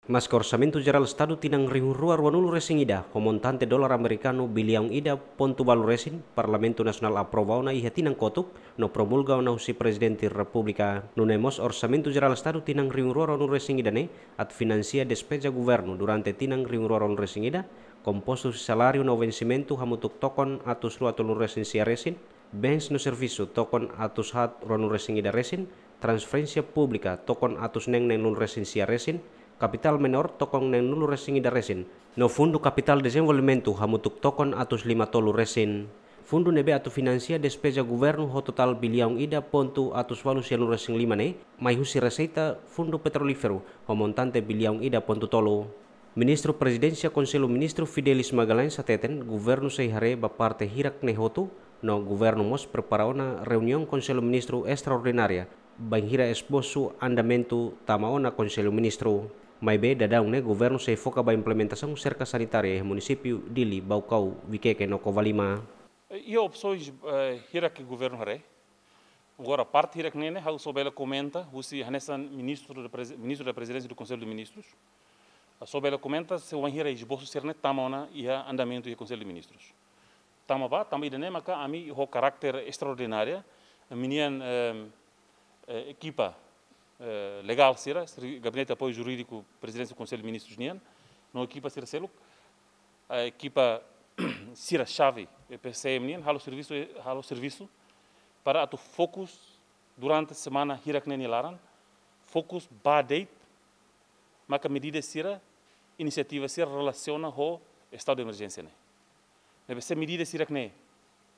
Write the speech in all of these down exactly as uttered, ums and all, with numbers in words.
Maske Orsamentu Jerál Estadu tinan rihun rua ruanulu resin ida ho montante dolar amerikanu biliaun ida pontu balu resin, Parlamentu Nasionál aprova ona iha tinan kotuk no promulga ona husi Prezidente Repúblika. Nune'e mós Orsamentu Jerál Estadu tinan rihun rua ruanulu resin ida ne'e atu finansia despeza governu durante tinan rihun rua ruanulu resin ida, kompostu husi saláriu no vensimentu hamutuk tokon atus rua tolunulu resin sia resin, bens no servisu tokon atus haat ruanulu resin ida resin, transferénsia públika tokon atus neen neenulu resin sia resin, kapitál menór tokon neenulu resin ida resin, no Fundu Kapitál Dezenvolvimentu hamutuk tokon atus lima tolu resin. Fundu ne'ebé atu finansia despeza governu ho totál biliaun ida pontu atus balu sianulu resin lima ne'e mai husi reseita Fundu Petrolíferu ho montante biliaun ida pontu tolu. Ministru Prezidénsia Konsellu Ministru Fidelis Magalhães hateten, governu sei haree ba parte hirak ne'e hotu, no governu mós prepara ona reuniaun Konsellu Ministru estraordinária, bainhira esbosu andamentu tama ona Konsellu Ministru. Maibé daudaun ne'e governu sei foka ba implementasaun serka sanitária iha munisípiu Dili, Baucau, Viqueque no Covalima. Iha opsoens, eh, hirak ke governu haree. Agora, parte hirak ne'e ne'e, ha'u só bele komenta husi hanesan Ministru da Prezi-, Ministru da Prezidénsia do Conselho de Ministros. Ha'u só bele komenta se wainhira esbosu sira-ne'e tama ona iha andamentu iha Konsellu de Ministrus. Tama ba, tama ida-ne'e maka ami ho karákter estraordinária, ami-nian, ehm, eh, ekipa, eh, legál sira, seri-, Gabinete Apoiu Jurídiku Prezidénsia Konsellu de Ministrus nian, no ekipa sira seluk, eh, ekipa sira xave, eh, P C M nian, halo servisu, eh, halo servisu para atu fokus durante semana hirak ne'e nia laran, fokus ba de'it, maka medida sira, inisiativa sira relasiona ho estadu de emerjénsia ne'e. Ne'ebé se medida sira-ne'e,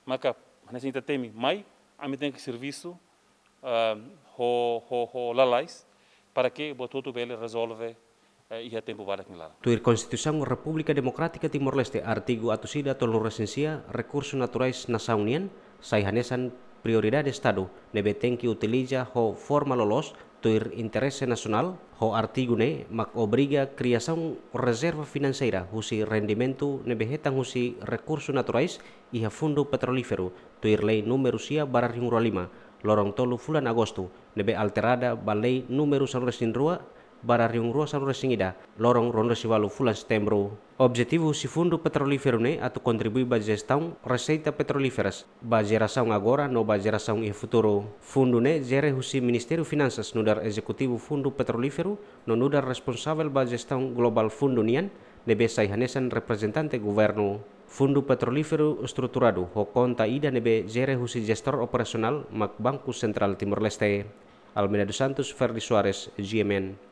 maka, hanesan ita temi, mai, ami tenke servisu, ah, ho, ho, ho lalais, para ke buat hotu bele rezolve, eh, iha tempu badak nia laran. Tuir Konstituisaun Repúblika Demokrátika Timor-Leste, artigu atus ida tolunulu resin sia, rekursu naturais nasaun nian sai hanesan prioridade Estadu, ne'ebé tenke utiliza ho forma loloos, tuir interese nasionál, ho artigu ne'e mak obriga kriasaun rezerva finanseira husi rendimentu ne'ebé hetan husi rekursu naturais iha Fundu Petrolíferu, tuir Lei númeru sia barra rihun rua lima, loron tolu fulan Agostu, ne'ebé alterada ba Lei númeru sanulu resin rua barra rihun rua sanulu resin ida, loron ruanulu resin ualu fulan Setembru. Objetivu husi Fundu Petrolíferu ne'e atu kontribui ba jestaun reseita petrolíferas, ba jerasaun agora no ba jerasaun iha futuru. Fundu ne'e jere husi Ministériu Finansas nu'udar ezekutivu Fundu Petrolíferu no nu'udar responsavel ba jestaun globál fundu nian, ne'ebé sai hanesan reprezentante governu. Fundu Petrolíferu estruturadu ho konta ida ne'ebé jere husi jestór operasionál mak Banku Sentrál Timor-Leste. Almeida dos Santos, Ferdi Soares, G M N.